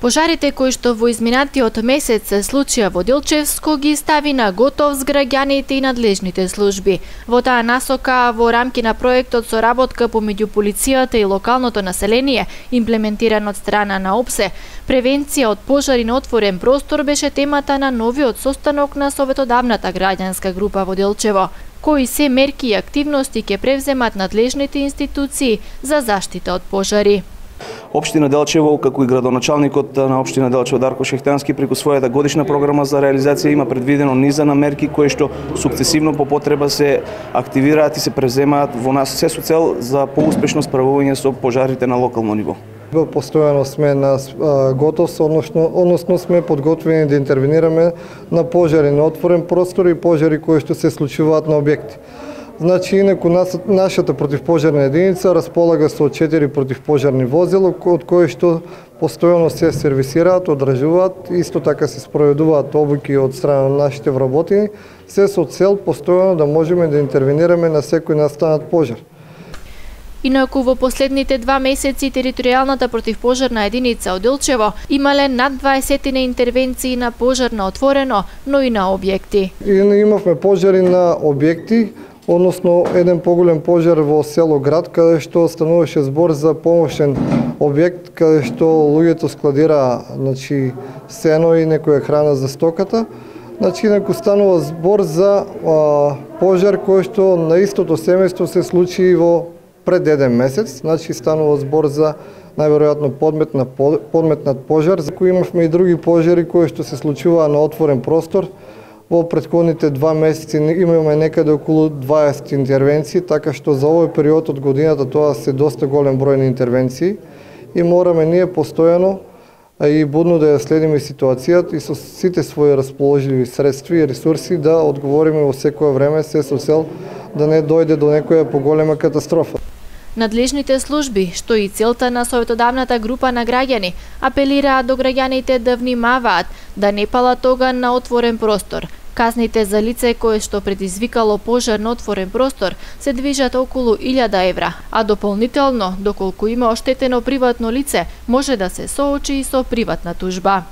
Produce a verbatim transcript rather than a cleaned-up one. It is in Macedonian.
Пожарите кои што во изминатиот месец се случија во Делчевско ги стави на готов с граѓаните и надлежните служби. Во таа насока, во рамки на проектот соработка помеѓу полицијата и локалното население, имплементиран од страна на ОПСЕ, превенција од пожари на отворен простор беше темата на новиот состанок на Советодавната граѓанска група во Делчево. Кои се мерки и активности ќе превземат надлежните институции за заштита од пожари. Општина Делчево, како и градоначалникот на општина Делчево Дарко Шехтански, преку својата годишна програма за реализација има предвидено низа на мерки кои што сукцесивно по потреба се активираат и се преземаат во нас, се со цел за поуспешно справување со пожарите на локално ниво. Постојано сме на готовност, односно, односно сме подготвени да интервенираме на пожари на отворен простор и пожари кои што се случуваат на објекти. Значи, инаку нашата противпожарна единица располага со четири противпожарни возила, од кои што постојано се сервисираат, одржуваат, исто така се спроведуваат обуки од страна на нашите вработени, се со цел постојано да можеме да интервенираме на секој настанат пожар. Инаку во последните два месеци територијалната противпожарна единица од Делчево имале над дваесет интервенции на пожар на отворено, но и на објекти. И имавме пожари на објекти, односно еден поголем пожар во село Град, каде што стануваше збор за помошен објект, каде што луѓето складира, значи, сено и некоја храна за стоката. Значи, инаку станува збор за а, пожар кој што на истото семејство се случи во пред еден месец. Значи, станува збор за најверојатно подметна, подметнат пожар, за кој имавме и други пожари кои што се случуваа на отворен простор. Во претходните два месеци имаме некаде околу дваесет интервенции, така што за овој период од годината тоа се доста голем број на интервенции и мораме ние постојано и будно да ја следиме ситуацијата и со сите своји расположливи средства и ресурси да одговориме во секое време, се со цел да не дојде до некоја поголема катастрофа. Надлежните служби, што и целта на Советодавната група на граѓани, апелираат до граѓаните да внимаваат, да не палат оган на отворен простор. Казните за лице кое што предизвикало пожар на отворен простор се движат околу илјада евра, а дополнително, доколку има оштетено приватно лице, може да се соочи и со приватна тужба.